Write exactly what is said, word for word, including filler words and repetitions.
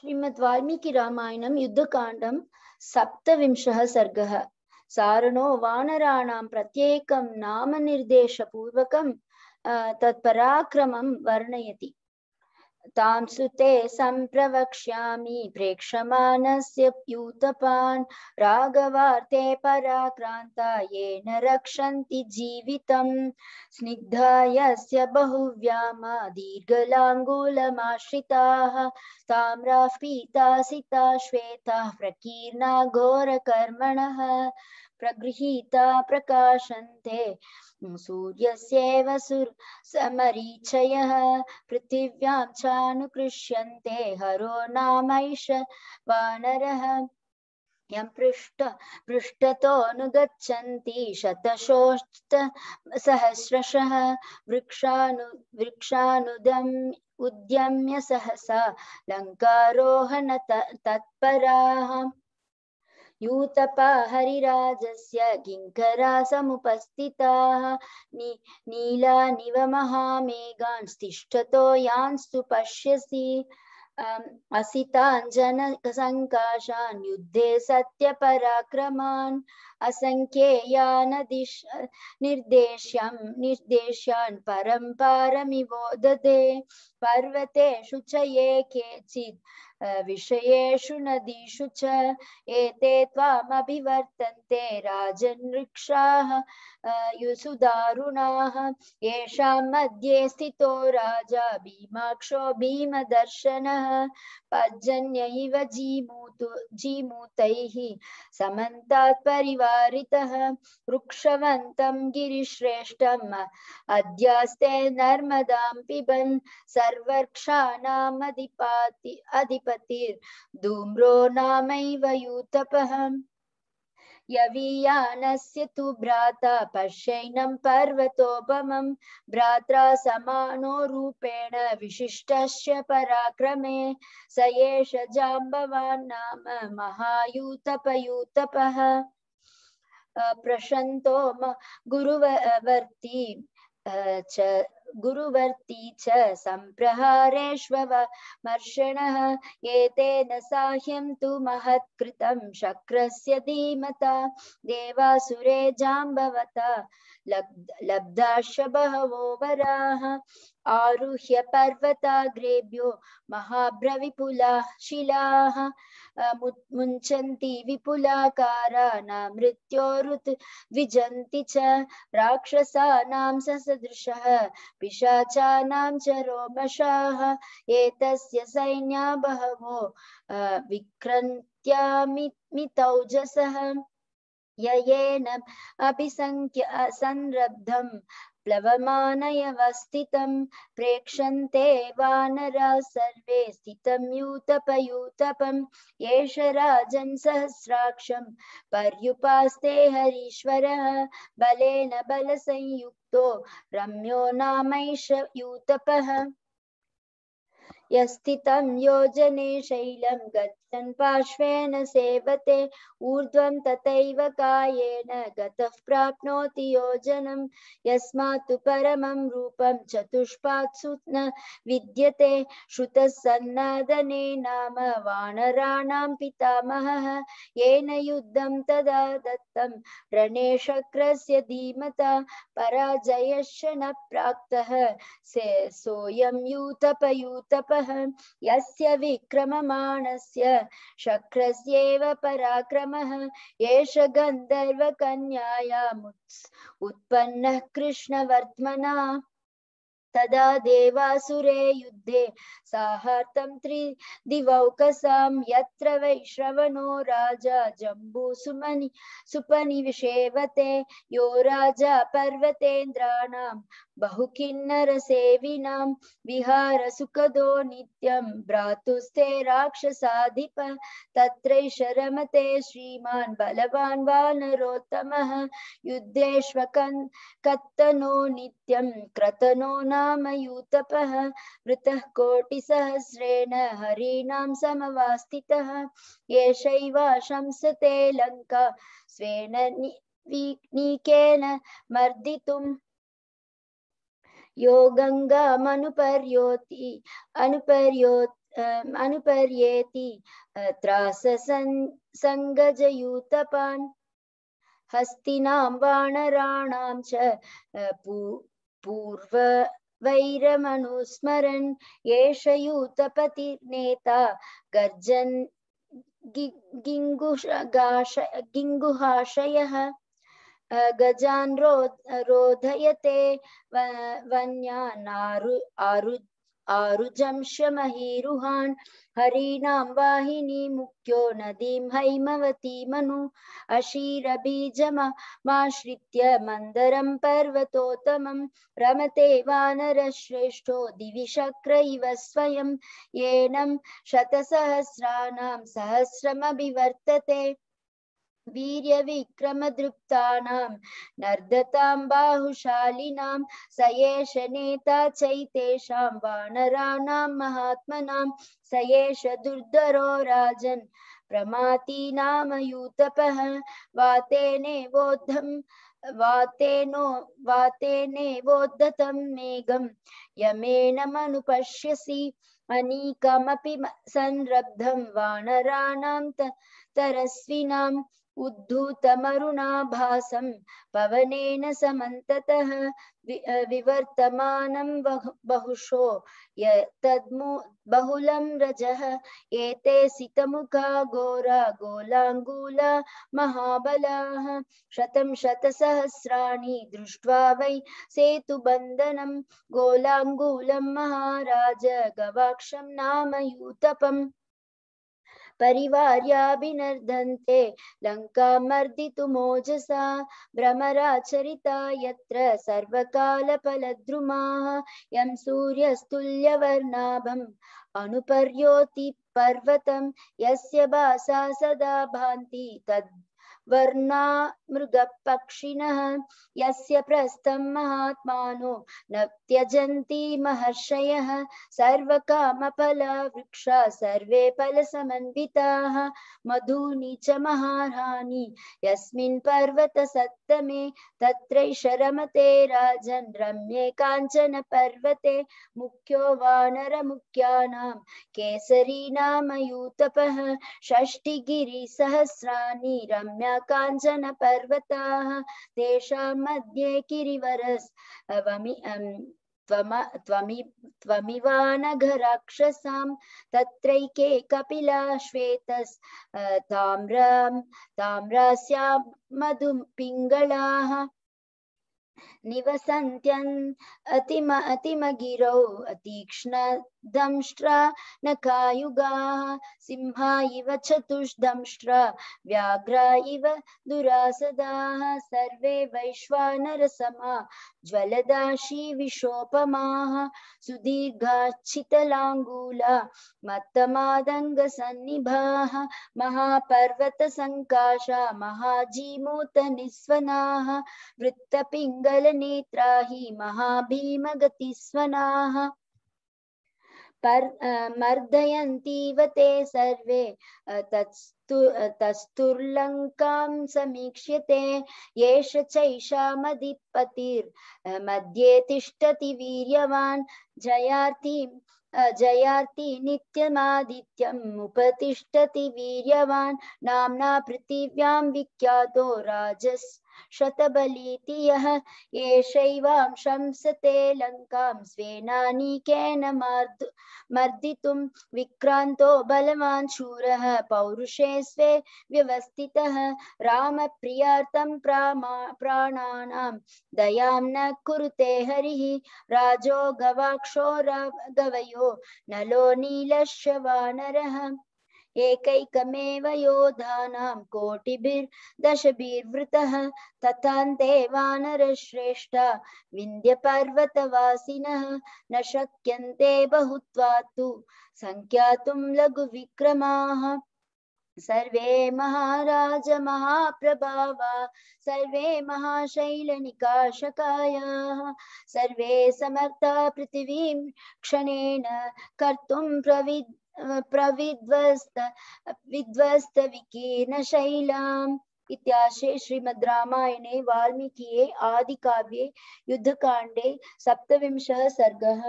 श्रीमद् वाल्मीकि रामायणं युद्धकाण्डं सप्तविंशः सर्गः। सारणो वानराणां प्रत्येकं नामनिर्देशपूर्वकं तत्पराक्रमं वर्णयति। तां सुते सम्प्रवक्ष्यामि प्रेक्षमाणस्य यूतपान् राघवार्ते पराक्रान्ता येन रक्षन्ति जीवितं। स्निग्धा यस्य बहुव्यामा दीर्घलाङ्गूलमाश्रिताः ताम्राः पीतासिता श्वेताः प्रकीर्णा घोरकर्मणः प्रगृहीता प्रकाशन्ते सूर्यस्येव समरीचयः पृथिव्यां चानुकृष्यन्ते हरो नामैष वानरः। यं पृष्ठ पृष्ठतोऽनुगच्छन्ति शतशोऽष्ट सहस्रशः वृक्षानु वृक्षानुदम् उद्यम्य सहसा लङ्कारोहण तत्पराः। यूतपा हरिराजस्य किङ्करा समुपस्थिताः नि नीलानिव महामेघान् तिष्ठतो यान्स्तु पश्यसि असिताञ्जनसङ्काशान् युद्धे सत्यपराक्रमान् असङ्ख्येयान् निर्देश्यं निर्देश्यान् परम्पारमिवोदते पर्वतेषु च ये केचित् विषयेषु नदीषु च एते त्वामभिवर्तन्ते राजनृक्षाः युसुदारुणाः। येषां मध्ये स्थितो राजा भीमाक्षो भीमदर्शनः पर्जन्य इव जीमूतु जीमूतैः समन्तात् परिवारितः वृक्षवन्तं गिरिश्रेष्ठम् अद्यास्ते नर्मदां पिबन् सर्ववृक्षाणाम् अधिपति अधिपतिर्धूम्रो नामैव यूतपः। यवीयानस्य तु भ्राता पश्यैनं पर्वतोपमं भ्रात्रा समानो रूपेण विशिष्टस्य पराक्रमे स एष जाम्बवान् नाम महायूतपयूतपः। प्रशन्तो गुरुवर्ती च गुरुवर्ती च सम्प्रहारेष्वमर्षणः एतेन साह्यं तु महत्कृतं शक्रस्य धीमता देवासुरे जाम्बवता लब्धाश्च बहवो वराः। आरुह्य पर्वताग्रेभ्यो महाभ्रविपुलाः शिलाः मुञ्चन्ति विपुलाकारा न मृत्योरुत विजन्ति च राक्षसानां ससदृशः पिशाचानां च रोमशाः एतस्य सैन्या बहवो विक्रन्त्यामितौजसः येन अभिसंख्य संरब्धं प्लवमानयवस्थितं प्रेक्षन्ते वानरा सर्वे स्थितं यूतपयूतपं एष राजन् सहस्राक्षं पर्युपास्ते हरीश्वरः बलेन बलसंयुक्तो रम्यो नामैष यूतपः। यस्थितं योजने शैलं गच्छन् पार्श्वेन सेवते ऊर्ध्वं तथैव कायेन गतः प्राप्नोति योजनं यस्मात् परमं रूपं चतुष्पात्सु न विद्यते श्रुतः सन्नादने नाम वानराणां पितामहः येन युद्धं तदा दत्तं रणे शक्रस्य धीमता पराजयश्च न प्राक्तः से सोऽयं यूतपयूतपः। यस्य विक्रममाणस्य शक्रस्येव पराक्रमः एष गन्धर्वकन्यायाम् उत्पन्नः कृष्णवर्त्मना। तदा देवासुरे युद्धे साहार्तं त्रिदिवौकसां यत्र वैश्रवणो राजा जम्बूसुमनि सुपनिविषेवते यो राजा पर्वतेन्द्राणां बहुकिन्नरसेविनां विहारसुखदो नित्यं भ्रातुस्ते राक्षसाधिप तत्रैष रमते श्रीमान् बलवान् वानरोत्तमः युद्धेष्वकत्तनो नित्यं क्रतनो नाम यूतपः वृतः कोटिसहस्रेण हरीणां समवास्थितः एषैवा शंसते लङ्का स्वेन नीकेन मर्दितुम् यो गङ्गामनुपर्योति अनुपर्यो अनुपर्येति त्रास संगजयूतपान् हस्तिनां वानराणां च पूर्व वैरमनुस्मरन् एष यूतपतिर्नेता गर्जन् गिङ्गुहाशयः गजान् रोधयते वन्यानारु आरु आरुजंशमहीरुहान् हरीणां वाहिनी मुख्यो नदीं हैमवतीमनु अशीरबीजमाश्रित्य मन्दरं पर्वतोत्तमं रमते वानरश्रेष्ठो दिवि शक्र इव स्वयं येनं शतसहस्राणां सहस्रमभिवर्तते वीर्यविक्रमदृप्तानां नर्दतां बाहुशालिनां स एष नेता चैतेषां वानराणां महात्मनां स एष दुर्धरो राजन् प्रमातीनामयूतपः वातेनेवोद्धं वातेनो वातेनेवोद्धतं मेघं यमेन मनुपश्यसि अनीकमपि संरब्धं वानराणां तरस्विनाम् उद्धूतमरुणाभासं पवनेन समन्ततः विवर्तमानं बहुशो यत्तद्मु बहुलं रजः एते सितमुखा घोरा गोलाङ्गूला महाबलाः शतं शतसहस्राणि दृष्ट्वा वै सेतुबन्धनं गोलाङ्गूलं महाराज गवाक्षं नाम यूतपम् परिवार्याभिनर्दन्ते लङ्कामर्दितुमोजसा भ्रमराचरिता यत्र सर्वकालफलद्रुमाः यं सूर्यस्तुल्यवर्णाभम् अनुपर्योति पर्वतं यस्य भासा सदा भान्ति तद् वर्णा मृगपक्षिणः यस्य प्रस्थं महात्मानो न त्यजन्ति महर्षयः सर्वकामफला वृक्षा सर्वे फलसमन्विताः मधूनि च महार्हानि यस्मिन् पर्वतसत्तमे तत्रैष रमते राजन् रम्ये काञ्चन पर्वते मुख्यो वानरमुख्यानां केसरी नाम यूतपः षष्टिगिरिसहस्राणि रम्या काञ्चन पर्वताः तेषां मध्ये गिरिवरस्वमि त्वमिवानघराक्षसां तत्रैके कपिला श्वेतस् ताम्रां ताम्रास्यां मधुपिङ्गलाः निवसन्त्यन् अतिम अतिमगिरौ अतीक्ष्णदंष्ट्रा नखायुगाः सिंहा इव चतुष्दंष्ट्रा व्याघ्रा इव दुरासदाः सर्वे वैश्वानरसमा ज्वलदाशी विशोपमाः सुदीर्घाच्छितलाङ्गूला मत्तमादङ्गसन्निभाः महापर्वतसङ्काशा महाजीमूतनिस्वनाः वृत्तपिङ्गलनेत्रा हि महाभीमगतिस्वनाः मर्दयन्तीव ते सर्वे तत्स्तु तस्तुर्लङ्कां समीक्ष्यते येष चैषामधिपतिर्मध्ये तिष्ठति वीर्यवान् जयार्ति जयार्ति नित्यमादित्यम् उपतिष्ठति वीर्यवान् नाम्ना पृथिव्यां विख्यातो राजस् शतबलीति यः एषैवां शंसते लङ्कां स्वेनानीकेन मर्दितुं विक्रान्तो बलवान् शूरः पौरुषे स्वे व्यवस्थितः रामप्रियार्थं प्राणानां दयां न कुरुते हरिः राजो गवाक्षो गवयो नलो नीलश्च वानरः एकैकमेव योधानां कोटिभिर्दशभिर्वृतः तथान्ते वानरश्रेष्ठा विन्ध्यपर्वतवासिनः न शक्यन्ते बहुत्वात्तु संख्यातुं लघुविक्रमाः सर्वे महाराज महाप्रभावा सर्वे महाशैलनिकाशकायाः सर्वे समर्था पृथिवीं क्षणेन कर्तुं प्रविद् प्रविध्वस्त विध्वस्त विकीर्णशैलाम् इत्याशे श्रीमद् रामायणे वाल्मीकिये आदिकाव्ये युद्धकाण्डे सप्तविंशः सर्गः।